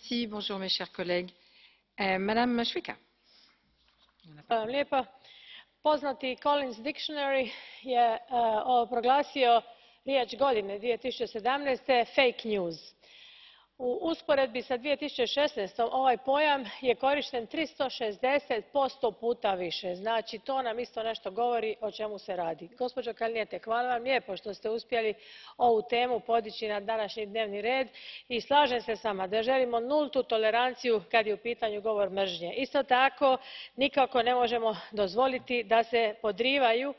Bonjour mes chers collègues. Madame Šuica. Poznati Collins Dictionary je proglasio riječ godine 2017. fake news. U usporedbi s 2016. ovaj pojam je korišten 360% puta više. Znači, to nam isto nešto govori o čemu se radi. Gospođo Kalniete, hvala vam lijepo što ste uspjeli ovu temu podići na današnji dnevni red i slažem se s vama da želimo nultu toleranciju kad je u pitanju govor mržnje. Isto tako, nikako ne možemo dozvoliti da se podrivaju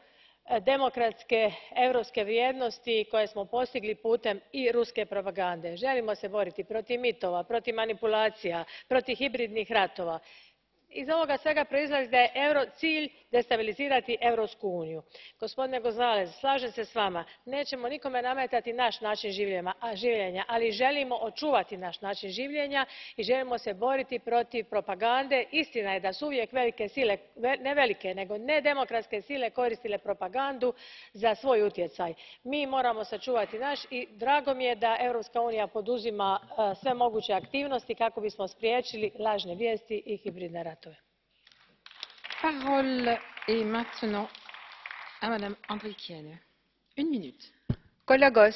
demokratske europske vrijednosti koje smo postigli putem i ruske propagande. Želimo se boriti protiv mitova, protiv manipulacija, protiv hibridnih ratova. Iz ovoga svega proizlazi da je cilj destabilizirati Europsku uniju. Gospodine González, slažem se s vama, nećemo nikome nametati naš način življenja, ali želimo očuvati naš način življenja i želimo se boriti protiv propagande. Istina je da su uvijek velike sile, ne velike, nego nedemokratske sile koristile propagandu za svoj utjecaj. Mi moramo sačuvati naš i drago mi je da Europska unija poduzima sve moguće aktivnosti kako bismo spriječili lažne vijesti i hibridne ratove. Kolegos,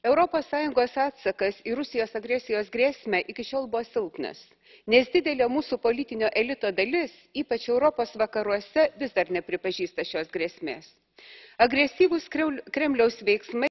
Europos Sąjungos atsakas į Rusijos agresijos grėsmę iki šiol buvo silpnas, nes didelė mūsų politinio elito dalis, ypač Europos vakaruose, vis dar nepripažįsta šios grėsmės. Agresyvūs Kremliaus veiksmai